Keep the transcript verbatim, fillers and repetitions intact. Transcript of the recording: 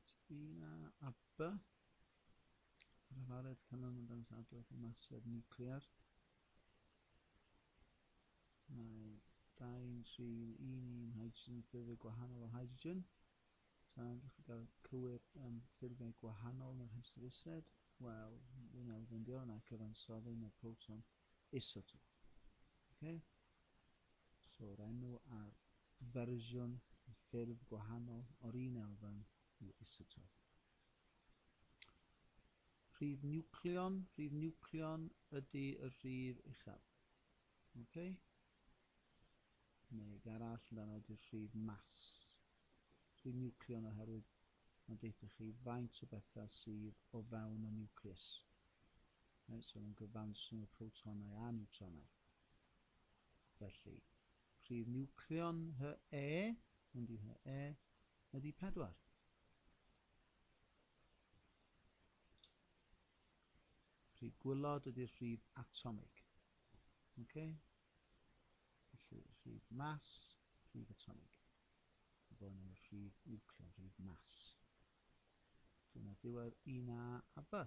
Reit, un A a B. Yr hafaliad canlynol yn dangos adwaith y masedd niwclear. Mae dau, un, tri, un, un hydrogen yn ffurfiau gwahanol o hydrogen. So, allwch chi gael cywir um, ffurfiau gwahanol yn yr rhestr ised? Wel, un elfen di o, na cyfansoddi mae'r proton isotop. Okay? So, yr enw ar fersiwn, ffurf gwahanol o'r un elfen yw isotop. Rhif niwcleon, rhif niwcleon ydy y rhif uchaf. Okay? Neu gair arall amdano ydy'r rhif mas. Rhif niwcleon oherwydd mae'n deutha chi faint o bethau sydd o fewn y niwcleus. Right, so mae'n gyfanswm o protonau a niwtronau. Felly, rhif niwcleon He, hwn di He, ydy pedwar. Rhif gwylod ydy'r rhif atomig. Okay? Felly, rhif mas, rhif atomig. Fo yn enw rhif niwcleon, rhif mas. Dyna diwedd un A a B.